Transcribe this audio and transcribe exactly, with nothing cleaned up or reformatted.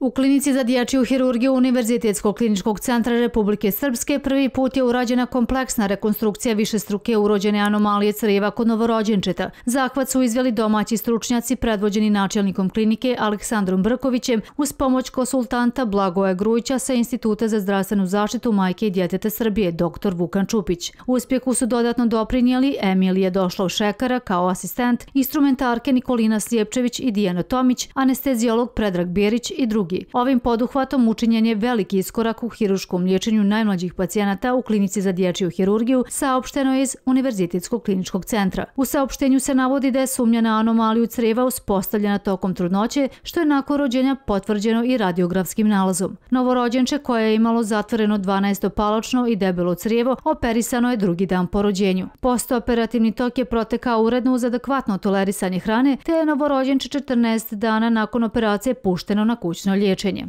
U klinici za dječju hirurgiju Univerzitetskog kliničkog centra Republike Srpske prvi put je urađena kompleksna rekonstrukcija višestruke urođene anomalije crijeva kod novorođenčeta. Zahvat su izveli domaći stručnjaci predvođeni načelnikom klinike Aleksandrom Brkovićem uz pomoć konsultanta Blagoja Grujića sa Instituta za zdravstvenu zaštitu majke i djeteta Srbije, doktor Vukan Čupić. Uspjehu su dodatno doprinijeli Emilija Došlov-Šekara kao asistent, instrumentarke Nikolina Slijepčević i Dijana Tomić, anestezijolog Predrag Bjerić i drugi. Ovim poduhvatom učinjen je veliki iskorak u hiruškom liječenju najmlađih pacijenata u klinici za dječju hirurgiju, saopšteno je iz Univerzitetskog kliničkog centra. U saopštenju se navodi da je sumnja na anomaliju crijeva uspostavljena tokom trudnoće, što je nakon rođenja potvrđeno i radiografskim nalazom. Novorođenče koje je imalo zatvoreno dvanaestopaločno i debelo crijevo operisano je drugi dan po rođenju. Postoperativni tok je protekao uredno uz adekvatno tolerisanje hrane, te je novorođenče četrnaest dana nakon operacije pušteno na kućno liječenje.